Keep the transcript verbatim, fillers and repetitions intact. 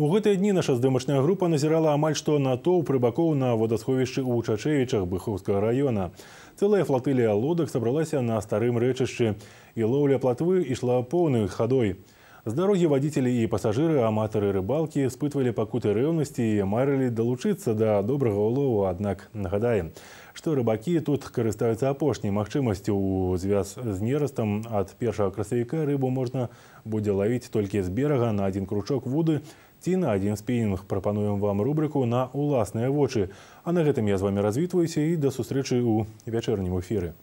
У гэтыя дні наша здымачная група назірала амаль што натоўп рыбакоў на водасховішчы ў Чачэвічах Быховскага района. Цэлая флатылія лодак сабралася на старым рэчышчы, і лоўля платвы ішла поўнай хадой. З дарогі вадзіцелі і пасажыры, аматары рыбалкі спытвалі пакуты рэўнасці і марылі далучыцца да добрага ўлову, аднак нагадаем, што рыбакі тут карыстаюцца апошняй магчымасцю. У звяз з нерастам ад першага красавіка рыбу можна будзе лавіць толькі з берага на адзін кручок вуды ці на адзін спінінг. Прапануем вам рубрыку «На ўласныя вочы». А на гэтым я з вамі развітваюся і да сустрэчы ў вячэрнім эфіры.